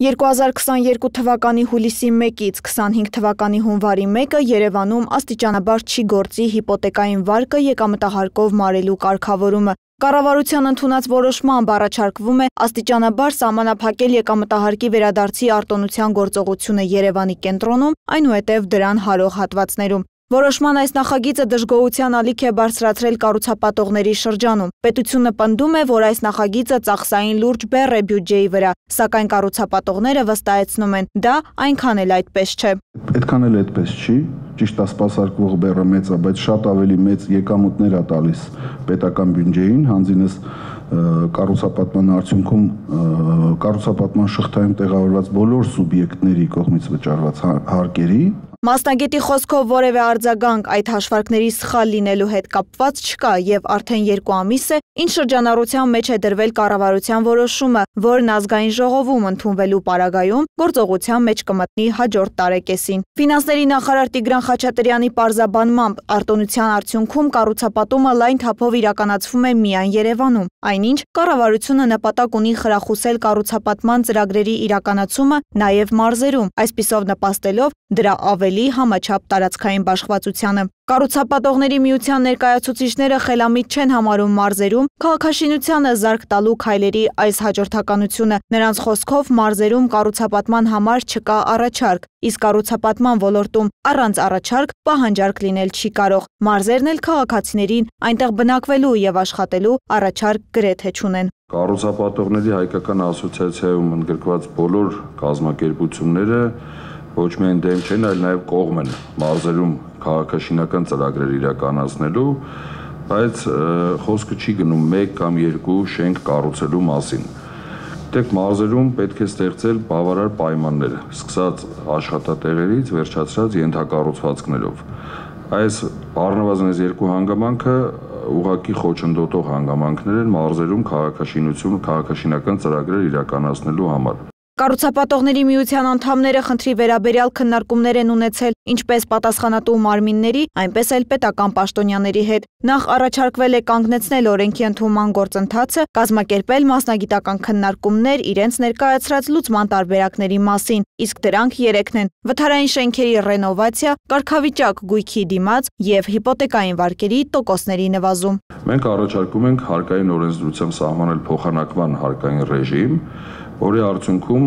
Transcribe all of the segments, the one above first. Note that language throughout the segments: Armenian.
2022 թվականի հուլիսի 1-ից 25 թվականի հունվարի 1-ը Երևանում աստիճանաբար չի գործի հիպոթեկային վարկը եկամտահարկով մարելու կարգավորումը։ Կառավարության ընդունած որոշմամբ առաջարկվում է աստիճանաբար սահմանափակել եկամտահարկի վերադարձի արտոնության գործողությունը Երևանի կենտրոնում, այնուհետև դրան հարող հատվածներում։ Որոշման այս նախագիծը դժգոհության ալիք է բարձրացրել կառուցապատողների շրջանում։ Պետությունը պնդում է, որ այս նախագիծը ծախսային լուրջ բեռ է բյուջեի վրա, սակայն կառուցապատողները վստահեցնում են, դա այնքան էլ այդպես չէ։ Այդքան էլ այդպես չի, ճիշտ է, սպասարկվող բեռը մեծ է, բայց շատ ավելի մեծ եկամուտներ է տալիս պետական բյուջեին, հանձինս կառուցապատման արդյունքում կառուցապատման շղթայում տեղավորված բոլոր սուբյեկտների կողմից վճարված հարկերի։ Մասնագետի խոսքով որևէ արձագանք այդ հաշվարկների սխալ լինելու հետ կապված չկա եւ արդեն 2 ամիս է, ինչ շրջանառության մեջ է դրվել կառավարության որոշումը, որն ազգային ժողովում ընդունվելու պարագայում գործողության մեջ կմտնի հաջորդ տարեկեսին։ Ֆինանսների նախարար Տիգրան Խաչատրյանի պարզաբանմամբ արտոնության արդյունքում կառուցապատումը լայն թափով իրականացվում է միայն Երևանում, այնինչ կառավարությունը նպատակ ունի խրախուսել կառուցապատման ծրագրերի իրականացումը նաեւ մարզերում, այսպիսով նպաստելով դրա ավելի համաչափ տարածքային բաշխվածությանը։ Կառուցապատողների միության ներկայացուցիչները խելամիտ չեն համարում մարզերում քաղաքաշինությանը զարկ տալու քայլերի այս հաջորդականությունը։ Նրանց խոսքով մարզերում կառուցապատման համար չկա առաջարկ, իսկ կառուցապատման ոլորտում առանց առաջարկ պահանջարկ լինել չի կարող։ Մարզերն էլ քաղաքացիներին այնտեղ բնակվելու եւ աշխատելու առաջարկ գրեթե չունեն։ Կառուցապատողների հայկական ասոցիացիայում ընդգրկված բոլոր կազմակերպությունները ոչ միայն դեմ չեն, այլ նաև կողմ են մարզերում քաղաքաշինական ծրագրեր իրականացնելու, բայց խոսքը չի գնում 1 կամ 2 շենք կառուցելու մասին։ Գիտեք, մարզերում պետք է ստեղծել բավարար պայմաններ, սկսած աշխատատեղերից, վերջացրած ենթակառուցվածքներով։ Այս առնվազն 2 հանգամանքը ուղղակի խոչընդոտող հանգամանքներ են մարզերում քաղաքաշինական ծրագրեր իրականացնելու համար։ Կառուցապատողների միության անդամները խնդրի վերաբերյալ քննարկումներ են ունեցել ինչպես պատասխանատու մարմինների, այնպես էլ պետական պաշտոնյաների հետ։ Նախ առաջարկվել է կանգնեցնել օրենքի ընդունման գործընթացը, կազմակերպել մասնագիտական քննարկումներ իրենց ներկայացրած լուծման տարբերակների մասին, իսկ դրանք 3-ն են՝ վթարային շենքերի ռենովացիա, կարգավիճակ գույքի դիմաց եւ հիպոթեկային վարկերի տոկոսների նվազում։ Մենք առաջարկում ենք հարկային օրենսդրությամբ սահմանել փոխանակման հարկային ռեժիմ, որի արդյունքում,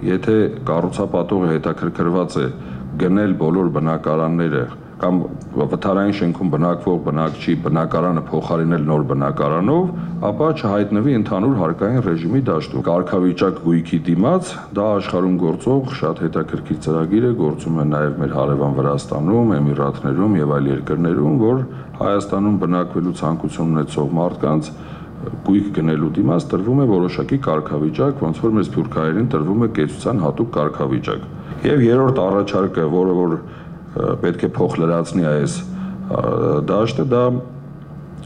եթե կառուցապատողը հետաքրքրված է գնել բոլոր բնակարանները կամ վթարային շենքում բնակվող բնակչի բնակարանը փոխարինել նոր բնակարանով, ապա չհայտնվի ընդհանուր հարկային ռեժիմի դաշտում։ Կարգավիճակ գույքի դիմաց դա աշխարհում գործող շատ հետաքրքիր ծրագիր է, գործում է նաև մեր հարևան Վրաստանում, Էմիրատներում եւ այլ երկրներում, որ Հայաստանում բնակվելու ցանկություն ունեցող մարդկանց գույք գնելու դիմաց տրվում է որոշակի կարգավիճակ, ոնց որ մեր սփյուռքահայերին տրվում է կեցության հատուկ կարգավիճակ։ Եվ երրորդ առաջարկը, որը որ պետք է փոխլրացնի այս դաշտը, դա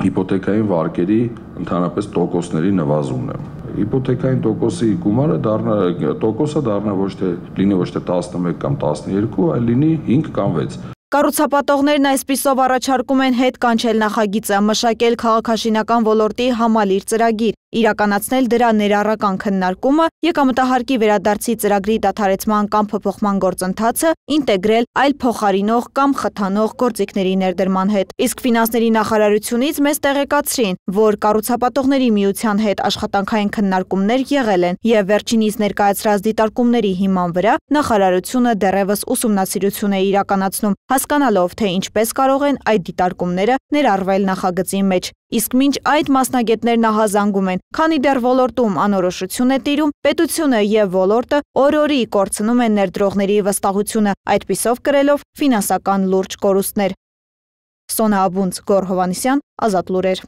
հիպոթեկային վարկերի ընդհանրապես տոկոսների նվազումն է։ Հիպոթեկային տոկոսի գումարը դառնա ոչ թե 11 կամ 12, այլ լինի 5 կամ 6։ Կառուցապատողներն այսպիսով առաջարկում են հետ կանչել նախագիծը, մշակել քաղաքաշինական ոլորտի համալիր ծրագիր, իրականացնել դրա ներառական քննարկումը, եկամտահարկի վերադարձի ծրագրի դադարեցման կամ փոփոխման գործընթացը ինտեգրել այլ փոխարինող կամ խթանող գործիքների ներդրման հետ։ Իսկ ֆինանսների նախարարությունից մեզ տեղեկացրին, որ կառուցապատողների միության հետ աշխատանքային քննարկումներ եղել են եւ վերջինիս ներկայացրած դիտարկումների հիման վրա նախարարությունը դեռևս ուսումնասիրություն է իրականացնում, հասկանալով, թե ինչպես կարող են այդ դիտարկումները ներառվել նախագծի մեջ։ Իսկ մինչ այդ մասնագետներն ահազանգում են, քանի դեռ ոլորտում անորոշություն է տիրում, պետությունը եւ ոլորտը օր-օրի կորցնում են ներդրողների վստահությունը, այդպիսով կրելով ֆինանսական լուրջ կորուստներ։ Սոնա Աբունց, Գոռ Հովհաննիսյան, Ազատ լուրեր։